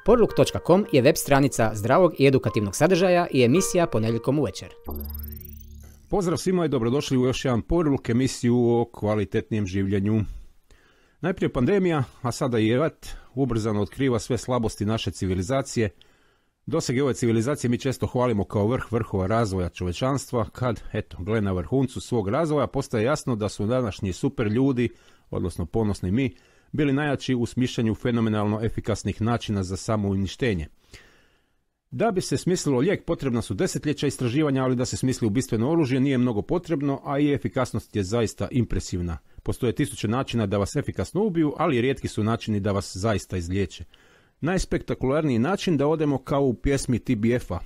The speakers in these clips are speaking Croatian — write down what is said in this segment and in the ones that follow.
Porluk.com je web stranica zdravog i edukativnog sadržaja i emisija ponedjeljkom uvečer. Pozdrav svima i dobrodošli u još jedan Porluk emisiju o kvalitetnijem življenju. Najprije pandemija, a sada i rat, ubrzano otkriva sve slabosti naše civilizacije. Dosege ove civilizacije mi često hvalimo kao vrh vrhova razvoja čovečanstva, kad, gle na vrhuncu svog razvoja, postaje jasno da su današnji super ljudi, odnosno ponosni mi, bili najjači u smišljanju fenomenalno efikasnih načina za samouništenje. Da bi se smislilo lijek, potrebna su desetljeća istraživanja, ali da se smisli ubistveno oružje nije mnogo potrebno, a i efikasnost je zaista impresivna. Postoje tisuće načina da vas efikasno ubiju, ali rijetki su načini da vas zaista izliječe. Najspektakularniji način da odemo kao u pjesmi TBF-a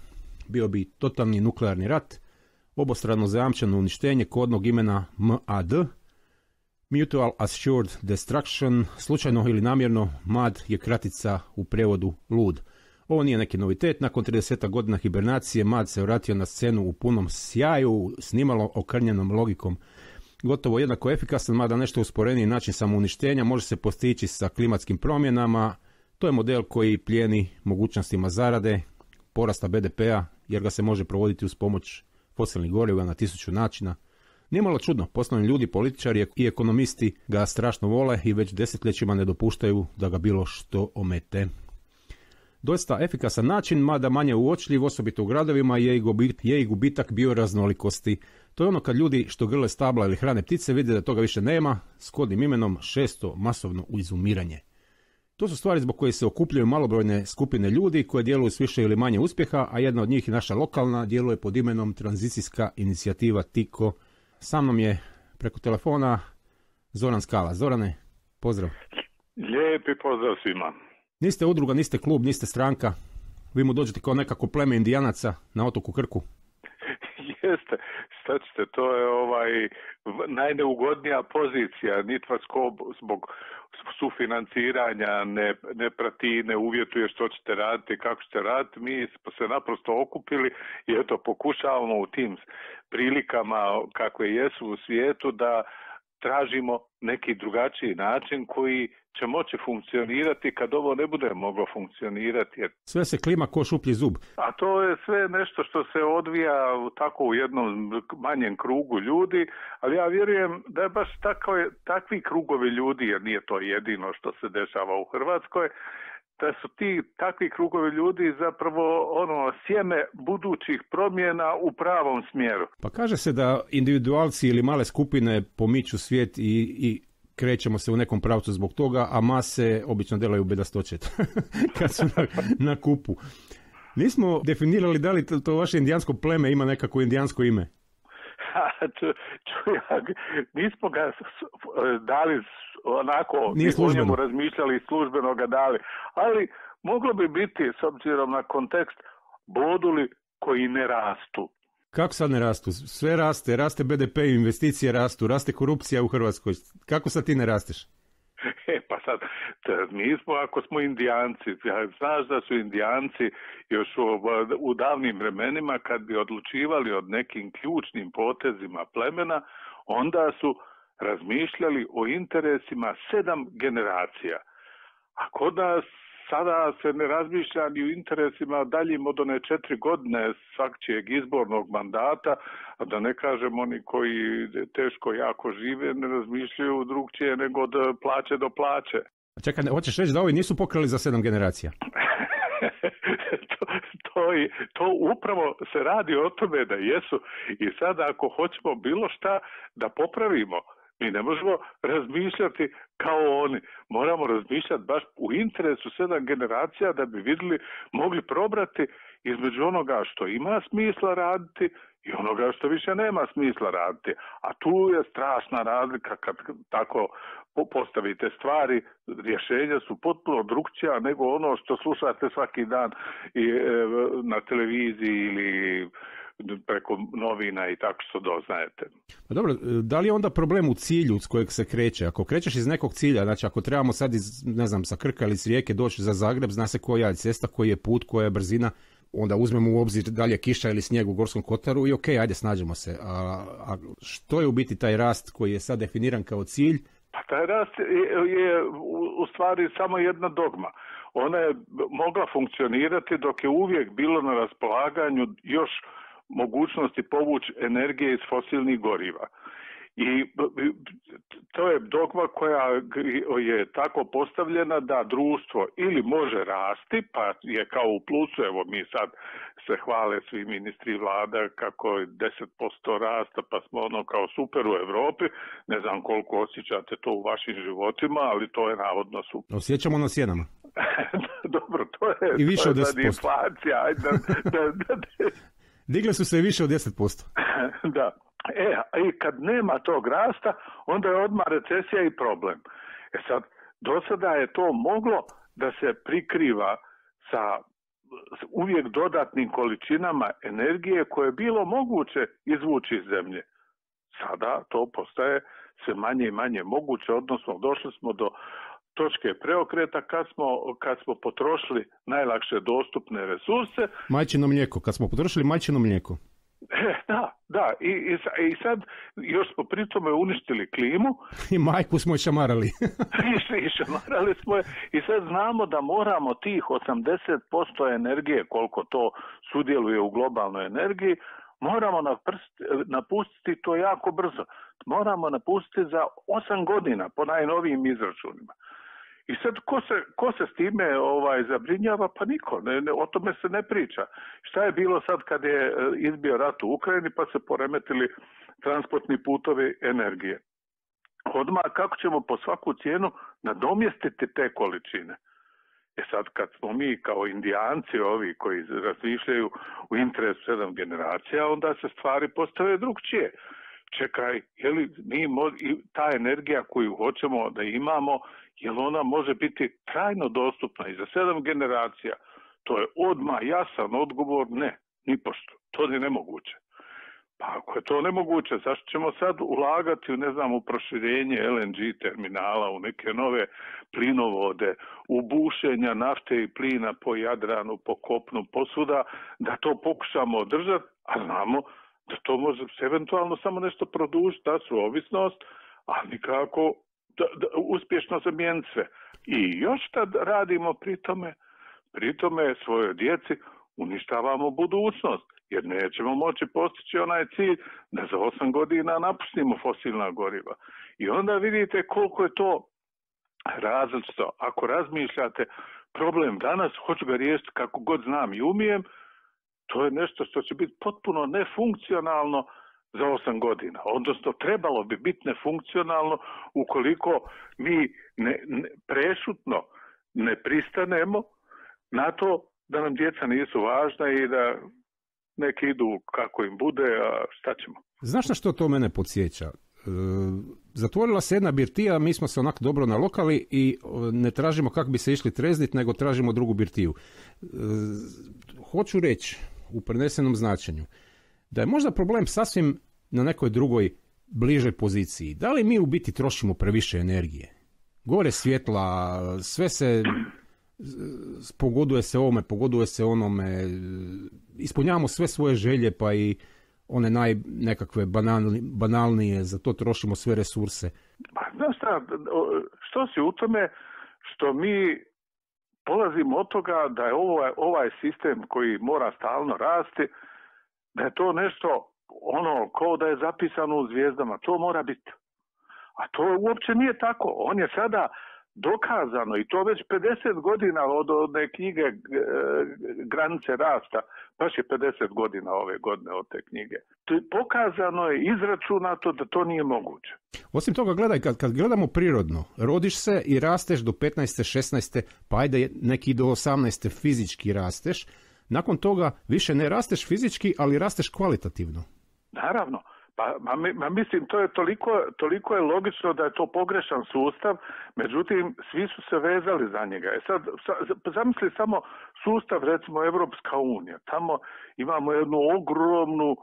bio bi totalni nuklearni rat, obostrano zajamčeno uništenje kodnog imena MAD, Mutual Assured Destruction, slučajno ili namjerno, MAD je kratica u prijevodu lud. Ovo nije neki novitet, nakon 30 godina hibernacije MAD se vratio na scenu u punom sjaju, snimalo okrnjenom logikom. Gotovo jednako efikasan, mada nešto usporeniji način samouništenja može se postići sa klimatskim promjenama. To je model koji plijeni mogućnostima zarade, porasta BDP-a, jer ga se može provoditi uz pomoć fosilnih goriva na 1000 načina. Nije malo čudno, poslovni ljudi, političari i ekonomisti ga strašno vole i već desetljećima ne dopuštaju da ga bilo što omete. Doista efikasan način, mada manje uočljiv, osobito u gradovima, je i gubitak bioraznolikosti. To je ono kad ljudi što grle stabla ili hrane ptice vide da toga više nema, s kodnim imenom 600 masovno izumiranje. To su stvari zbog koje se okupljaju malobrojne skupine ljudi koje djeluju s više ili manje uspjeha, a jedna od njih je naša lokalna, djeluje pod imenom Tranzicijska inicijativa TIKO. Sa mnom je preko telefona Zoran Skala. Zorane, pozdrav. Lijepi pozdrav svima. Niste udruga, niste klub, niste stranka. Vi mu dođete kao nekako pleme indijanaca na otoku Krku. Jeste, šta ćete, to je najneugodnija pozicija. Nit vas ko zbog sufinanciranja ne prati, ne uvjetuje što ćete raditi, kako ćete raditi. Mi smo se naprosto okupili i eto pokušavamo u tim prilikama kakve jesu u svijetu da tražimo neki drugačiji način koji će moći funkcionirati kad ovo ne bude moglo funkcionirati. Sve se klima ko šuplji zub. A to je sve nešto što se odvija tako u jednom manjem krugu ljudi, ali ja vjerujem da je baš takvi krugovi ljudi, jer nije to jedino što se dešava u Hrvatskoj, da su takvi krugovi ljudi zapravo sjeme budućih promjena u pravom smjeru. Pa kaže se da individualci ili male skupine pomiču svijet i krećemo se u nekom pravcu zbog toga, a mase obično delaju bedastoće kad su na kupu. Nismo definirali da li to vaše indijansko pleme ima nekako indijansko ime? Nismo ga dali onako, o njemu razmišljali i službeno ga dali, ali moglo bi biti, s obzirom na kontekst, boduli koji ne rastu. Kako sad ne rastu? Sve raste BDP, investicije rastu, raste korupcija u Hrvatskoj. Kako sad ti ne rasteš? Pa sad, mi smo, ako smo Indijanci, znaš da su Indijanci još u davnim vremenima kad bi odlučivali o nekim ključnim potezima plemena, onda su razmišljali o interesima 7 generacija. A kod nas sada se ne razmišlja ni o interesima daljim od one 4 godine svakčijeg izbornog mandata, a da ne kažem oni koji teško jako žive ne razmišljaju drugčije nego od plaće do plaće. Čekaj, hoćeš reći da ovi nisu pokrali za 7 generacija? To upravo se radi o tome da jesu i sada ako hoćemo bilo šta da popravimo, mi ne možemo razmišljati kao oni. Moramo razmišljati baš u interesu 7 generacija da bi mogli probrati između onoga što ima smisla raditi i onoga što više nema smisla raditi. A tu je strašna razlika kad tako postavite stvari. Rješenja su potpuno drukčija nego ono što slušate svaki dan na televiziji ili preko novina i tako što doznajete. Pa dobro, da li je onda problem u cilju s kojeg se kreće? Ako krećeš iz nekog cilja, znači ako trebamo sad sa Krka ili iz Rijeke doći za Zagreb, zna se koja je cesta, koji je put, koja je brzina, onda uzmemo u obzir da li je kiša ili snijeg u Gorskom kotaru i okej, ajde snađemo se. A što je u biti taj rast koji je sad definiran kao cilj? Pa taj rast je u stvari samo jedna dogma. ona je mogla funkcionirati dok je uvijek bilo na raspolaganju još mogućnosti povući energije iz fosilnih goriva. I to je dogma koja je tako postavljena da društvo ili može rasti, pa je kao u plusu, evo mi sad se hvale svi ministri vlada kako je 10% rasta, pa smo ono kao super u Europi, ne znam koliko osjećate to u vašim životima, ali to je navodno super. Osjećamo na sjenama. Dobro, to je, i više to od 10%. Inflacija. Digle su se i više od 10%. Da. I kad nema tog rasta, onda je odmah recesija i problem. Sad, do sada je to moglo da se prikriva sa uvijek dodatnim količinama energije koje je bilo moguće izvući iz zemlje. Sada to postaje sve manje i manje moguće, odnosno došli smo do točke preokreta kad smo potrošili najlakše dostupne resurse. Majčino mlijeko, kad smo potrošili majčino mlijeko. Da. I sad još smo pri tome uništili klimu. I majku smo šamarali. I šamarali smo je. I sad znamo da moramo tih 80% energije, koliko to sudjeluje u globalnoj energiji, moramo napustiti to jako brzo. Moramo napustiti za 8 godina po najnovijim izračunima. I sad ko se s time zabrinjava? Pa niko, o tome se ne priča. Šta je bilo sad kad je izbio rat u Ukrajini pa se poremetili transportni putovi energije? Odmah kako ćemo po svaku cijenu nadomjestiti te količine? Sad kad smo mi kao Indijanci ovi koji razmišljaju u interesu 7 generacija, onda se stvari postave drugčije. Čekaj, je li ta energija koju hoćemo da imamo, jel ona može biti trajno dostupna i za 7 generacija? To je odmah jasan odgovor, ne, nipošto. To je nemoguće. Pa ako je to nemoguće, zašto ćemo sad ulagati u proširenje LNG terminala, u neke nove plinovode, u bušenja nafte i plina po Jadranu, po kopnu, posvuda, da to pokušamo održati, a znamo da to može se eventualno samo nešto produžiti, ta su ovisnost, ali nikako da uspješno zamijeniti sve. I još tad radimo pri tome svojoj djeci uništavamo budućnost, jer nećemo moći postići onaj cilj da za 8 godina napustimo fosilna goriva. I onda vidite koliko je to različito. Ako razmišljate problem danas, hoću ga riješiti kako god znam i umijem, to je nešto što će biti potpuno nefunkcionalno za 8 godina. Odnosno, trebalo bi biti nefunkcionalno ukoliko mi prešutno ne pristanemo na to da nam djeca nisu važna i da neki idu kako im bude, a šta ćemo? Znaš na što to mene podsjeća? Zatvorila se jedna birtija, mi smo se onak dobro nalokali i ne tražimo kako bi se išli treznit, nego tražimo drugu birtiju. Hoću reći u prenesenom značenju da je možda problem sasvim na nekoj drugoj bližoj poziciji. Da li mi u biti trošimo previše energije? Gore svjetla, sve se pogoduje se ovome, pogoduje se onome, ispunjavamo sve svoje želje, pa i one nekakve banalnije, za to trošimo sve resurse. Znaš šta, što si u tome što mi polazimo od toga da je ovaj sistem koji mora stalno rasti, da je to nešto kao da je zapisano u zvijezdama, to mora biti. A to uopće nije tako. On je sada dokazano i to već 50 godina od one knjige Granice rasta, baš je 50 godina ove godine od te knjige. Pokazano je, izračunato da to nije moguće. Osim toga, gledaj, kad gledamo prirodno, rodiš se i rasteš do 15. 16. pa ajde neki do 18. fizički rasteš, nakon toga više ne rasteš fizički, ali rasteš kvalitativno. Naravno. Pa mislim, to je toliko je logično da je to pogrešan sustav, međutim, svi su se vezali za njega. Sad, zamisli samo sustav, recimo, Evropska unija. Tamo imamo jednu ogromnu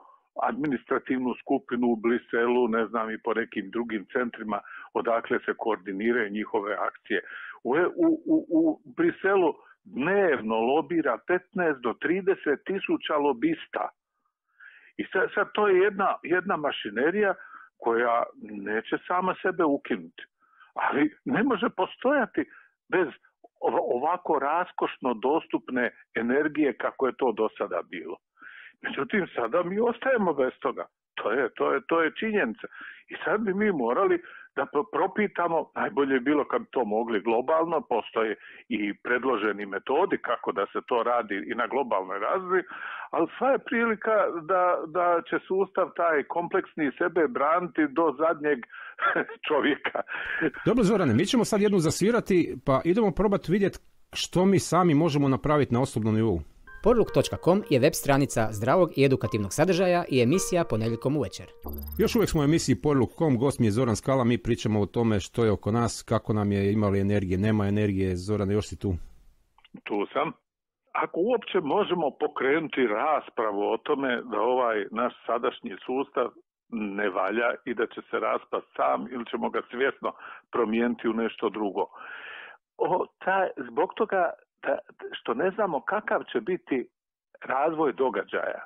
administrativnu skupinu u Briselu, ne znam, i po nekim drugim centrima odakle se koordiniraju njihove akcije. U Briselu dnevno lobira 15 do 30 tisuća lobista. I sad to je jedna mašinerija koja neće sama sebe ukinuti. Ali ne može postojati bez ovako raskošno dostupne energije kako je to do sada bilo. Međutim, sada mi ostajemo bez toga. To je činjenica. I sad bi mi morali da propitamo, najbolje je bilo kad bi to mogli globalno, postoje i predloženi metodi kako da se to radi i na globalnoj razini, ali sva je prilika da će sustav taj kompleksni sebe braniti do zadnjeg čovjeka. Dobro, Zorane, mi ćemo sad jednu zasvirati, pa idemo probati vidjeti što mi sami možemo napraviti na osobnom nivou. Porluk.com je web stranica zdravog i edukativnog sadržaja i emisija ponedjeljkom uvečer. Još uvijek smo u emisiji Porluk.com, gost mi je Zoran Skala, mi pričamo o tome što je oko nas, kako nam je, imali energije, nema energije. Zorane, još si tu? Tu sam. Ako uopće možemo pokrenuti raspravu o tome da ovaj naš sadašnji sustav ne valja i da će se raspast sam ili ćemo ga svjesno promijeniti u nešto drugo. Zbog toga što ne znamo kakav će biti razvoj događaja,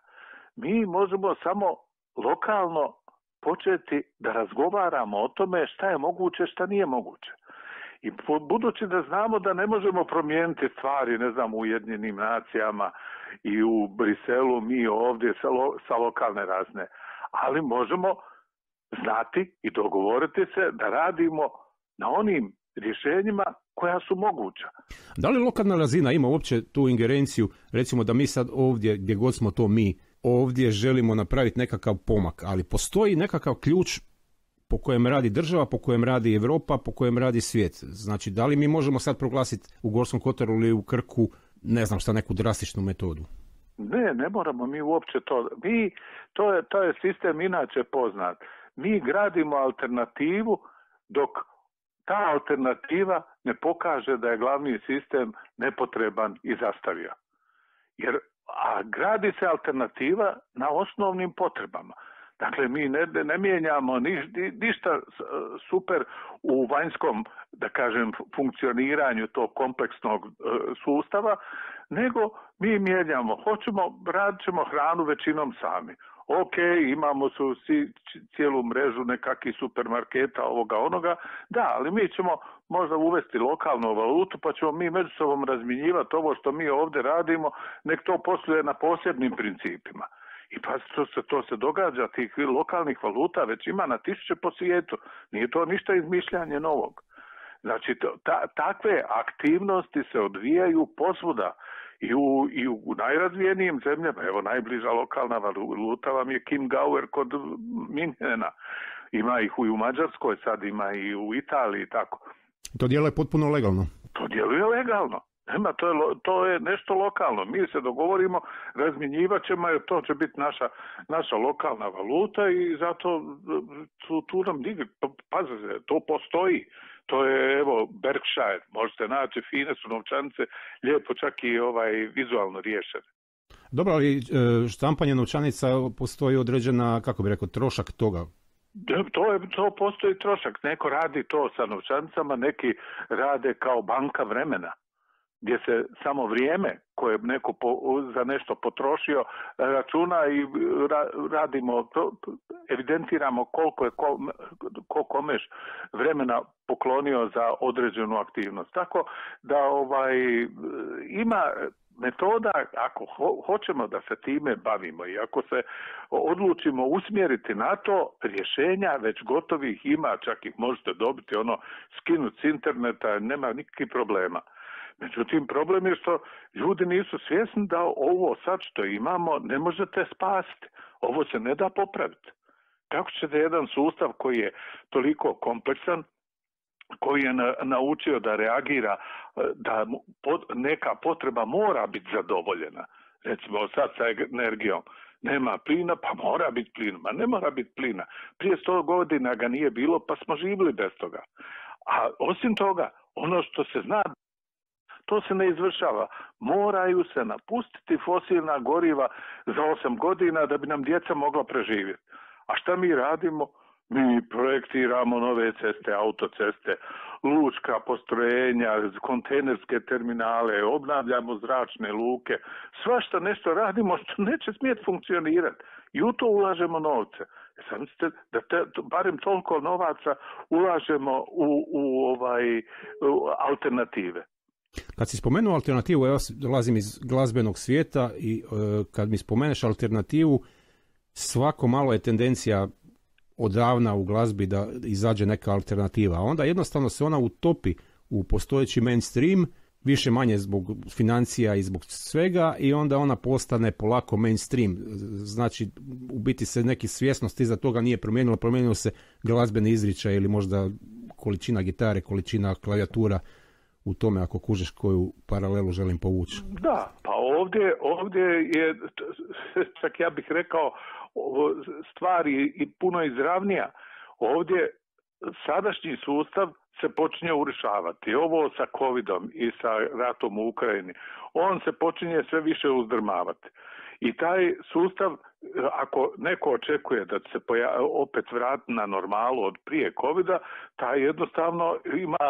mi možemo samo lokalno početi da razgovaramo o tome šta je moguće, šta nije moguće. I budući da znamo da ne možemo promijeniti stvari, ne znam, u Ujedinjenim nacijama i u Briselu, mi ovdje sa lokalne razine, ali možemo znati i dogovoriti se da radimo na onim rješenjima koja su moguća. Da li lokalna razina ima uopće tu ingerenciju, recimo da mi sad ovdje, gdje god smo to mi, ovdje želimo napraviti nekakav pomak, ali postoji nekakav ključ po kojem radi država, po kojem radi Europa, po kojem radi svijet. Znači, da li mi možemo sad proglasiti u Gorskom Kotaru ili u Krku, ne znam šta, neku drastičnu metodu? Ne moramo mi uopće to. To je sistem inače poznat. Mi gradimo alternativu dok ta alternativa ne pokaže da je glavni sistem nepotreban i zastavio. A gradi se alternativa na osnovnim potrebama. Dakle, mi ne mijenjamo ništa super u vanjskom, da kažem, funkcioniranju tog kompleksnog sustava, nego mi mijenjamo, radit ćemo hranu većinom sami. Ok, imamo cijelu mrežu nekakvih supermarketa, ovoga, onoga, da, ali mi ćemo možda uvesti lokalnu valutu, pa ćemo mi među sobom razmjenjivati ovo što mi ovdje radimo, nek to posluje na posebnim principima. I pa to se događa, tih lokalnih valuta već ima na tisuće po svijetu. Nije to ništa izmišljanje novog. Znači, takve aktivnosti se odvijaju posvuda i u najrazvijenijim zemljama. Evo, najbliža lokalna valuta vam je Kim Gauer kod Minhena. Ima ih u Mađarskoj, sad ima i u Italiji i tako. To djeluje potpuno legalno. To djeluje legalno. To je nešto lokalno. Mi se dogovorimo, razmjenjivat ćemo, jer to će biti naša lokalna valuta i zato tu nam pazite, to postoji. To je, evo, Berkshire, možete naći, fine su novčanice, lijepo čak i vizualno riješene. Dobro, ali štampanje novčanica postoji određena, kako bi rekao, trošak toga. To postoji trošak. Neko radi to sa novčanicama, neki rade kao banka vremena, gdje se samo vrijeme koje neko za nešto potrošio računa i radimo, evidentiramo koliko je ko komeš vremena poklonio za određenu aktivnost. Tako da ima metoda, ako hoćemo da se time bavimo i ako se odlučimo usmjeriti na to, rješenja već gotovih ima, čak ih možete dobiti, skinuti s interneta, nema nikakvih problema. Međutim, problem je što ljudi nisu svjesni da ovo sad što imamo ne možete spasiti. Ovo se ne da popraviti. Kako ćete jedan sustav koji je toliko kompleksan, koji je naučio da reagira, da neka potreba mora biti zadovoljena. Recimo sad sa energijom. Nema plina, pa mora biti plina. Ma ne mora biti plina. Prije 100 godina ga nije bilo, pa smo živjeli bez toga. A osim toga, ono što se zna, to se ne izvršava. Moraju se napustiti fosilna goriva za 8 godina da bi nam djeca mogla preživjeti. A šta mi radimo? Mi projektiramo nove ceste, autoceste, lučka postrojenja, kontejnerske terminale, obnavljamo zračne luke. Svašta nešto radimo što neće smjeti funkcionirati. I u to ulažemo novce. Sam ste da barem toliko novaca ulažemo u alternative. Kad si spomenuo alternativu, ja dolazim iz glazbenog svijeta i kad mi spomeneš alternativu, svako malo je tendencija odavna u glazbi da izađe neka alternativa, a onda jednostavno se ona utopi u postojeći mainstream, više manje zbog financija i zbog svega, i onda ona postane polako mainstream. Znači, u biti se neki svjesnost iza toga nije promijenilo se glazbeni izričaj ili možda količina gitare, količina klavijatura u tome, ako kužeš koju paralelu želim povući. Da, pa ovdje je, čak ja bih rekao, stvari i puno izravnija. Ovdje sadašnji sustav se počinje urušavati. Ovo sa covidom i sa ratom u Ukrajini, on se počinje sve više uzdrmavati. I taj sustav, ako neko očekuje da se opet vrati na normalu od prije covida, taj jednostavno ima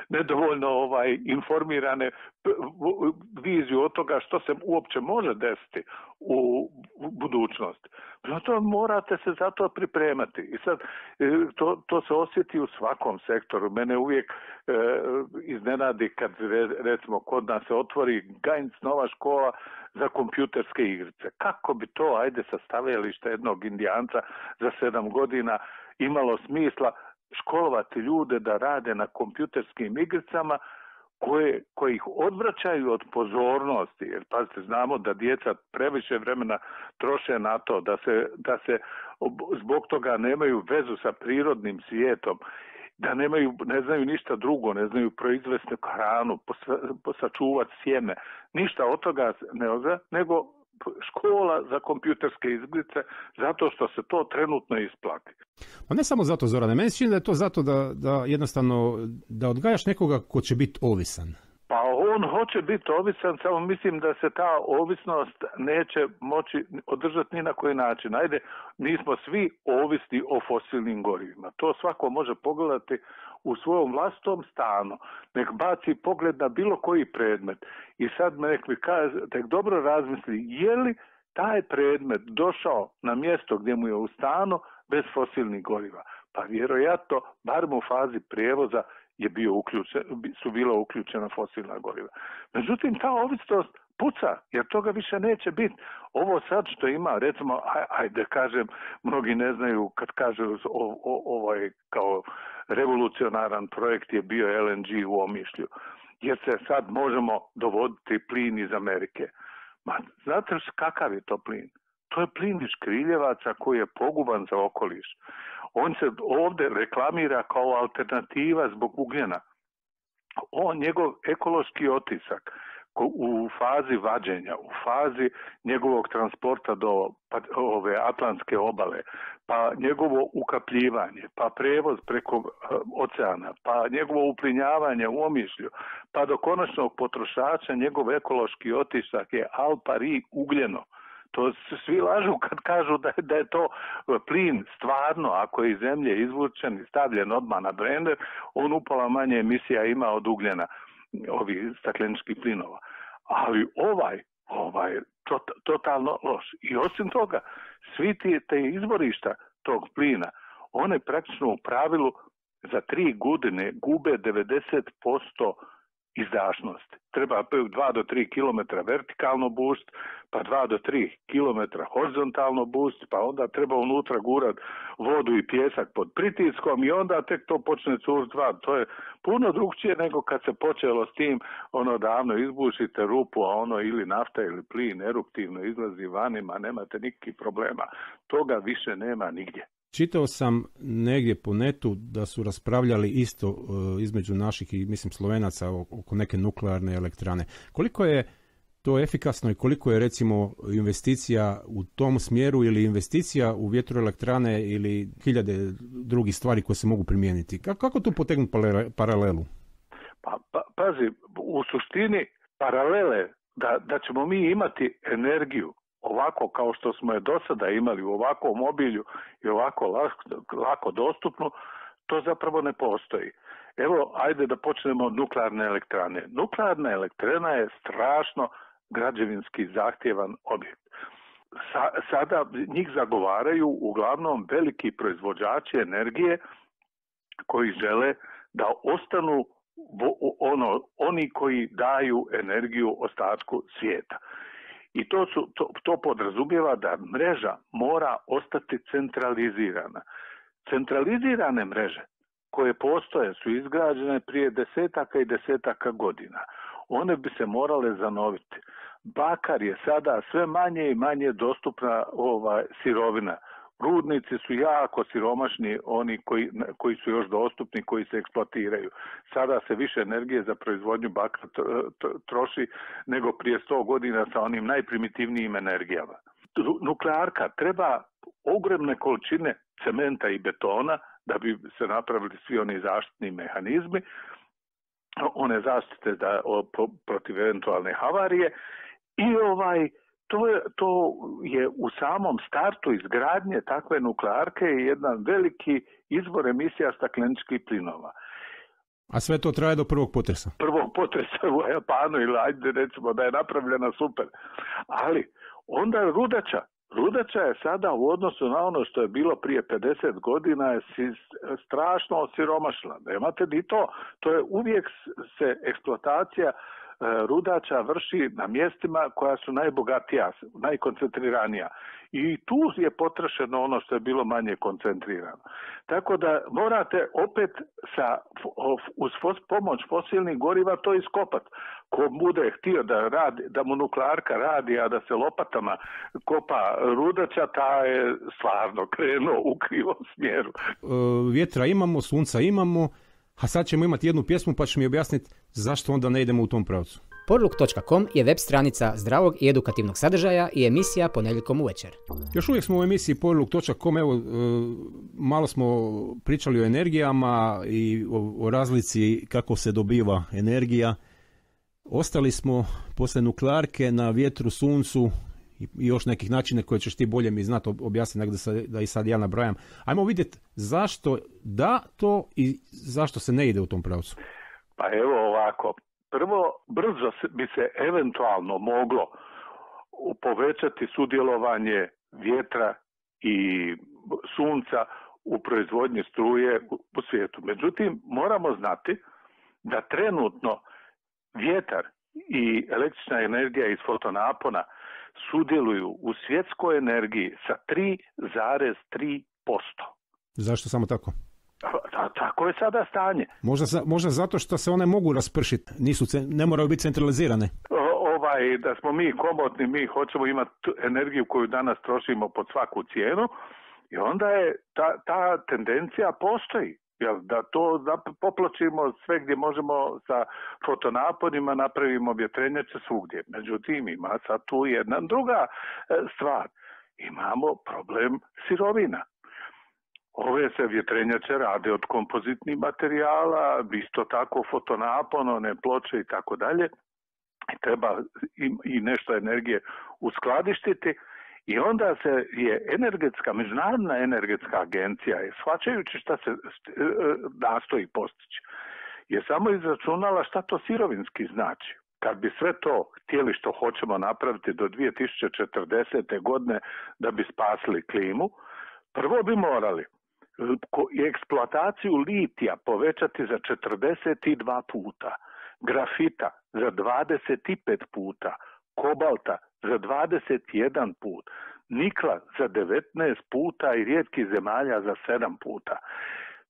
nedovoljno informirane viziju od toga što se uopće može desiti u budućnosti. To morate se za to pripremati. I sad to se osjeti u svakom sektoru. Mene uvijek iznenadi kad recimo kod nas se otvori Gainc nova škola za kompjuterske igrice. Kako bi to, ajde, sa stavljališta jednog Indijanca za 7 godina imalo smisla školovati ljude da rade na kompjuterskim igricama koje ih odvraćaju od pozornosti, jer pazite, znamo da djeca previše vremena troše na to, da se zbog toga nemaju vezu sa prirodnim svijetom, da ne znaju ništa drugo, ne znaju proizvesti hranu, sačuvati sjeme, ništa od toga ne zna, nego škola za kompjuterske igrice, zato što se to trenutno isplati. Pa ne samo zato, Zorane, meni se čini da je to zato da jednostavno da odgajaš nekoga ko će biti ovisan. Pa on hoće biti ovisan, samo mislim da se ta ovisnost neće moći održati ni na koji način. Ajde, nismo svi ovisni o fosilnim gorivima. To svako može pogledati u svojom vlastitom stanu. Nek baci pogled na bilo koji predmet i sad nek mi kaže, nek dobro razmisli, je li taj predmet došao na mjesto gdje mu je u stanu bez fosilnih goriva. Pa vjerojatno, barem u fazi prijevoza, su bila uključena fosilna goriva. Međutim, ta ovisnost puca, jer toga više neće biti. Ovo sad što ima, recimo, ajde kažem, mnogi ne znaju kad kažu ovaj kao revolucionaran projekt je bio LNG u Omišlju, jer se sad možemo dovoditi plin iz Amerike. Ma, znate kakav je to plin? To je plin iz škriljevaca koji je poguban za okoliš. On se ovdje reklamira kao alternativa zbog ugljena. Njegov ekološki otisak u fazi vađenja, u fazi njegovog transporta do ove Atlantske obale, pa njegovo ukapljivanje, pa prevoz preko oceana, pa njegovo uplinjavanje u Omišlju, pa do konačnog potrošača njegov ekološki otisak je al pari ugljeno. To svi lažu kad kažu da je to plin stvarno, ako je iz zemlje izvučen i stavljen odmah na blender, on upola manje emisija ima od ugljena, ovih stakleničkih plinova. Ali ovaj totalno loš. I osim toga, svi te izvorišta tog plina, one praktično u pravilu za 3 godine gube 90% izdašnosti. Treba 2 do 3 km vertikalno bušt, pa 2 do 3 km horizontalno bušt, pa onda treba unutra gurat vodu i pjesak pod pritiskom i onda tek to počne curiti van. To je puno drugčije nego kad se počelo s tim, davno izbušite rupu, a ili nafta ili plin eruptivno izlazi vanima, nemate nikakvih problema. Toga više nema nigdje. Čitao sam negdje po netu da su raspravljali isto između naših i mislim Slovenaca oko neke nuklearne elektrane. Koliko je to efikasno i koliko je recimo investicija u tom smjeru ili investicija u vjetroelektrane ili hiljade drugih stvari koje se mogu primijeniti? Kako tu potegnuti paralelu? Pa pazi, u suštini paralele da ćemo mi imati energiju ovako kao što smo je do sada imali u ovakvom obilju i ovako lako dostupnu, to zapravo ne postoji. Evo, ajde da počnemo od nuklearne elektrane. Nuklearna elektrana je strašno građevinski zahtjevan objekt. Sada njih zagovaraju uglavnom veliki proizvođači energije koji žele da ostanu oni koji daju energiju ostatku svijeta. I to podrazumijeva da mreža mora ostati centralizirana. Centralizirane mreže koje postoje su izgrađene prije desetaka i desetaka godina. One bi se morale zanoviti. Bakar je sada sve manje i manje dostupna sirovina. Rudnici su jako siromašni, oni koji su još dostupni, koji se eksploatiraju. Sada se više energije za proizvodnju bakra troši nego prije 100 godina sa onim najprimitivnijim energijama. Nuklearka treba ogromne količine cementa i betona da bi se napravili svi oni zaštitni mehanizmi, one zaštite protiv eventualne havarije i to je u samom startu izgradnje takve nuklearke jedan veliki izvor emisija stakleničkih plinova. A sve to traje do prvog potresa? Prvog potresa u Japanu ili ajde recimo da je napravljena super. Ali onda Rudača je sada u odnosu na ono što je bilo prije 50 godina je strašno osiromašila. Nemate ni to. To je uvijek se eksploatacija rudača vrši na mjestima koja su najbogatija, najkoncentriranija. I tu je potrošeno ono što je bilo manje koncentrirano. Tako da morate opet uz pomoć fosilnih goriva to iskopati. Ko bude htio da mu nuklearka radi, a da se lopatama kopa rudača, ta je stvarno krenuo u krivom smjeru. Vjetra imamo, sunca imamo, a sad ćemo imati jednu pjesmu pa ću mi objasniti zašto onda ne idemo u tom pravcu. Porluk.com je web stranica zdravog i edukativnog sadržaja i emisija ponedjeljkom uvečer. Još uvijek smo u emisiji Porluk.com, evo malo smo pričali o energijama i o razlici kako se dobiva energija. Ostali smo poslije nuklearke na vjetru, suncu i još nekih načina koje ćeš ti bolje mi znati objasniti nego da i sad ja nabrajam. Ajmo vidjeti zašto da to i zašto se ne ide u tom pravcu. Pa evo ovako. Prvo, brzo bi se eventualno moglo povećati sudjelovanje vjetra i sunca u proizvodnji struje u svijetu. Međutim, moramo znati da trenutno vjetar i električna energija iz fotonapona sudjeluju u svjetskoj energiji sa 3,3%. Zašto samo tako? Tako je sada stanje. Možda zato što se one mogu raspršiti, ne moraju biti centralizirane. Da smo mi komotni, mi hoćemo imati energiju koju danas trošimo pod svaku cijenu i onda je ta tendencija postoji. Da to popločimo sve gdje možemo sa fotonaponima, napravimo vjetrenjače svugdje. Međutim, ima sad tu jedna druga stvar. Imamo problem sirovina. Ove se vjetrenjače rade od kompozitnih materijala, isto tako fotonapon, one ploče i tako dalje. Treba i nešto energije uskladištiti i onda je Međunarodna energetska agencija, shvaćajući šta se nastoji postići, je samo izračunala šta to sirovinski znači. Kad bi sve to htjeli što hoćemo napraviti do 2040. godine da bi spasili klimu, prvo bi morali eksploataciju litija povećati za 42 puta, grafita za 25 puta, kobalta za 21 put, nikla za 19 puta i rijetkih zemalja za 7 puta.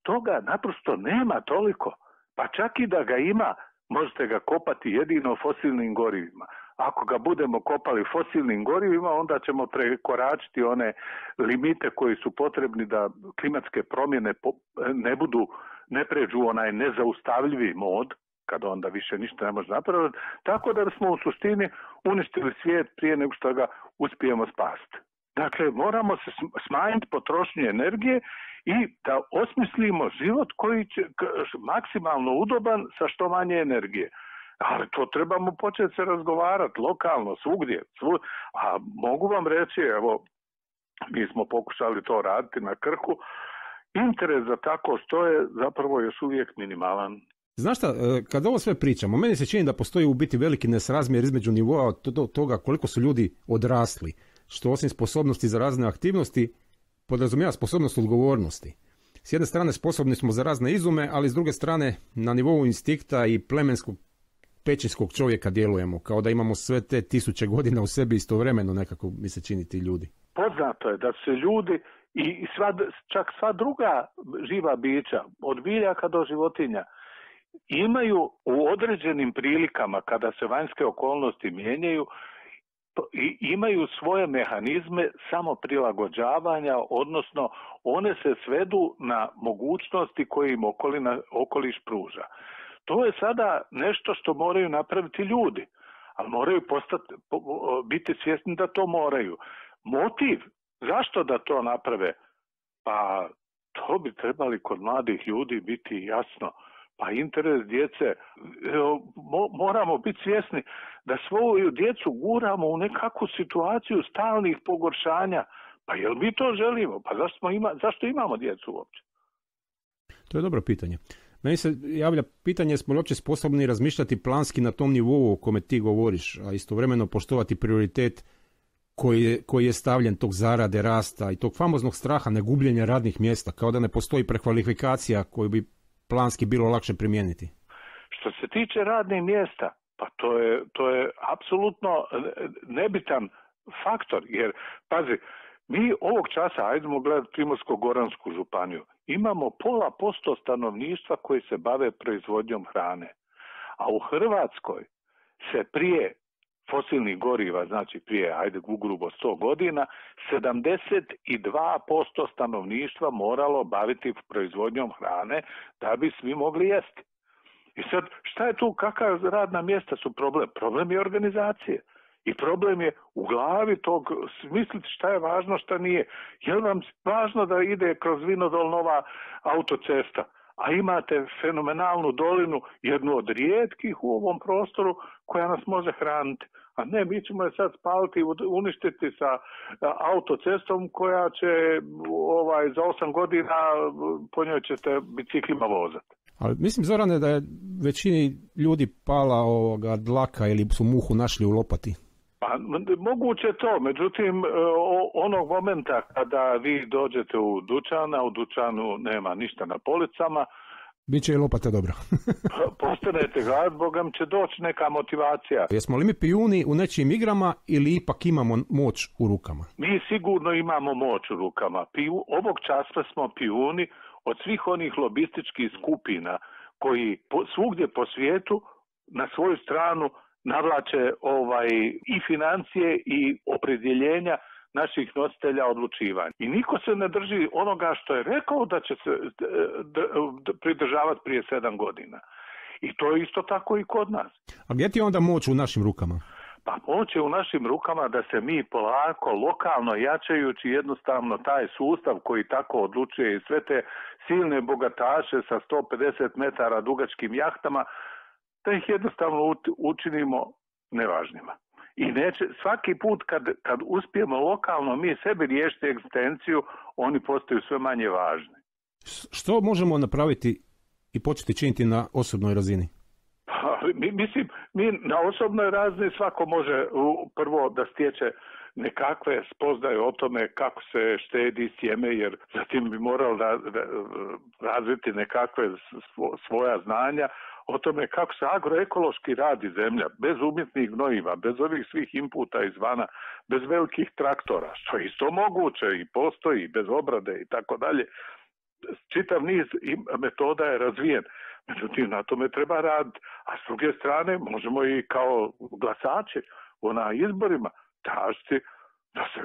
Toga naprosto nema toliko, pa čak i da ga ima, možete ga kopati jedino fosilnim gorivima. Ako ga budemo kopali fosilnim gorivima, onda ćemo prekoračiti one limite koji su potrebni da klimatske promjene ne pređu onaj nezaustavljivi mod, kad onda više ništa ne može napraviti, tako da smo u suštini uništili svijet prije nego što ga uspijemo spasiti. Dakle, moramo se smanjiti potrošnju energije i da osmislimo život koji će maksimalno udoban sa što manje energije. Ali to trebamo početi se razgovarati lokalno, svugdje. A mogu vam reći, evo, mi smo pokušali to raditi na Krku, interes za tako što je zapravo još uvijek minimalan. Znaš šta, kad ovo sve pričamo, meni se čini da postoji u biti veliki nesrazmjer između nivoa toga koliko su ljudi odrasli, što osim sposobnosti za razne aktivnosti podrazumijeva sposobnost odgovornosti. S jedne strane sposobni smo za razne izume, ali s druge strane na nivou instinkta i plemenskog pećinskog čovjeka djelujemo, kao da imamo sve te 1000 godina u sebi istovremeno, nekako mi se čini ti ljudi. Poznato je da se ljudi i čak sva druga živa bića, od biljaka do životinja, imaju u određenim prilikama, kada se vanjske okolnosti mijenjaju, i imaju svoje mehanizme samoprilagođavanja, odnosno one se svedu na mogućnosti koje im okoliš pruža. To je sada nešto što moraju napraviti ljudi, ali moraju biti svjesni da to moraju. Motiv zašto da to naprave? Pa to bi trebali kod mladih ljudi biti jasno. Pa interes djece, moramo biti svjesni da svoju djecu guramo u nekakvu situaciju stalnih pogoršanja. Pa jel mi to želimo? Pa zašto imamo djecu uopće? To je dobro pitanje. Meni se javlja pitanje, smo li uopće sposobni razmišljati planski na tom nivou o kome ti govoriš, a istovremeno poštovati prioritet koji je stavljen tog zarade, rasta i tog famoznog straha negubljenja radnih mjesta, kao da ne postoji prekvalifikacija koju bi planski bilo lakše primijeniti. Što se tiče radnih mjesta, pa to je apsolutno nebitan faktor, jer pazi, mi ovog časa, ajdemo gledati Primorsko-goransku županiju, imamo 0,5% stanovništva koji se bave proizvodnjom hrane, a u Hrvatskoj se prije fosilnih goriva, znači prije, ugrubo 100 godina, 72% stanovništva moralo baviti proizvodnjom hrane da bi svi mogli jesti. I sad, šta je tu, kakva radna mjesta su problem? Problem je organizacije. I problem je u glavi tog smisliti šta je važno, šta nije. Je li vam važno da ide kroz Vinodol nova autocesta, a imate fenomenalnu dolinu, jednu od rijetkih u ovom prostoru koja nas može hraniti. A ne, mi ćemo je sad spaliti i uništiti sa autocestom koja će za 8 godina po njoj ćete biciklima vozati. Ali mislim, Zorane, da je većini ljudi pala dlaka ili su muhu našli u lopati. Pa, moguće to, međutim, onog momenta kada vi dođete u dućan, a u dućanu nema ništa na policama, biće i lopata dobra. Postanete glad, Bogam će doći neka motivacija. Jesmo li mi pijuni u nečijim igrama ili ipak imamo moć u rukama? Mi sigurno imamo moć u rukama. Ovog časa smo pijuni od svih onih lobističkih skupina koji svugdje po svijetu na svoju stranu navlače i financije i opredjeljenja naših nositelja odlučivanja. I niko se ne drži onoga što je rekao da će se pridržavati prije 7 godina. I to je isto tako i kod nas. A gdje ti je onda moć u našim rukama? Pa moć je u našim rukama da se mi polako, lokalno jačajući jednostavno taj sustav koji tako odlučuje i sve te silne bogataše sa 150 metara dugačkim jahtama, da ih jednostavno učinimo nevažnima. I svaki put kad uspijemo lokalno mi sebi riješiti egzistenciju, oni postaju sve manje važni. Što možemo napraviti i početi činiti na osobnoj razini? Mi na osobnoj razini svako može prvo da stječe nekakve spoznaje o tome kako se štedi sjeme, jer zatim bi morao razviti nekakve svoja znanja o tome kako se agroekološki radi zemlja, bez umjetnih gnojiva, bez ovih svih inputa izvana, bez velikih traktora, što je isto moguće i postoji, bez obrade i tako dalje. Čitav niz metoda je razvijen, međutim na tome treba raditi, a s druge strane možemo i kao glasači na izborima tražiti da se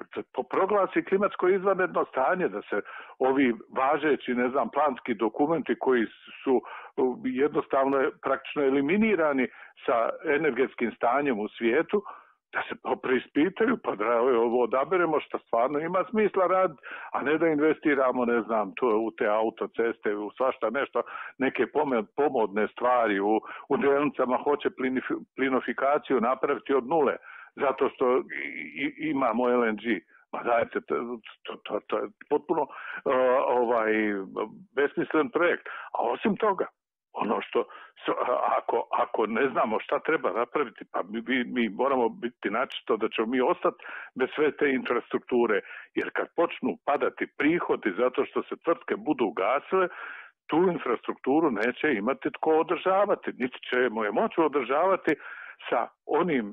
proglasi klimatsko izvanredno stanje, da se ovi važeći, planski dokumenti koji su jednostavno praktično eliminirani sa energetskim stanjem u svijetu, da se preispitaju, pa da ovo odaberemo što stvarno ima smisla raditi, a ne da investiramo, u te autoceste, u svašta nešto, neke pomodne stvari, u delnicama hoće plinofikaciju napraviti od nule, zato što imamo LNG. Ma dajte, to je potpuno besmislen projekt. A osim toga, Ono što, ako ne znamo šta treba napraviti, pa mi moramo biti načisto da ćemo mi ostati bez sve te infrastrukture, jer kad počnu padati prihodi zato što se tvrtke budu ugasile, tu infrastrukturu neće imati tko održavati, niti ćemo je moći održavati sa onim,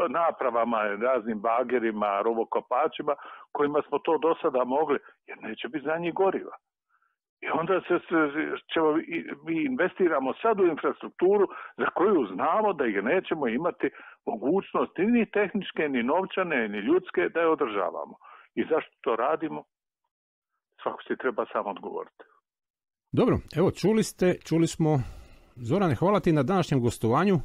napravama, raznim bagerima, rovokopačima, kojima smo to do sada mogli, jer neće biti za njih goriva. I onda mi investiramo sad u infrastrukturu za koju znamo da ih nećemo imati mogućnosti ni tehničke, ni novčane, ni ljudske da je održavamo. I zašto to radimo? Svako si treba sam odgovoriti. Dobro, evo čuli smo. Zorane, hvala ti na današnjem gostovanju.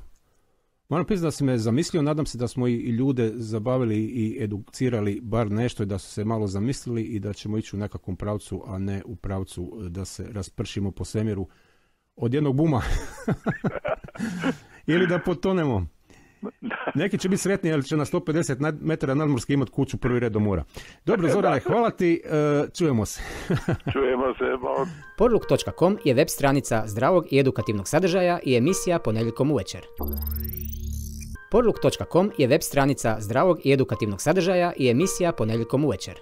Moram priznati da si me zamislio, nadam se da smo i ljude zabavili i educirali bar nešto i da su se malo zamislili i da ćemo ići u nekakvom pravcu, a ne u pravcu da se raspršimo po svemiru od jednog buma. Ili da potonemo. Neki će biti sretni, jer će na 150 metara nadmorske imati kuću prvi red do mora. Dobro, Zorane, hvala ti, čujemo se. Čujemo se. Porluk.com je web stranica zdravog i edukativnog sadržaja i emisija ponedjeljkom uvečer. Porluk.com je web stranica zdravog i edukativnog sadržaja i emisija ponedjeljkom uvečer.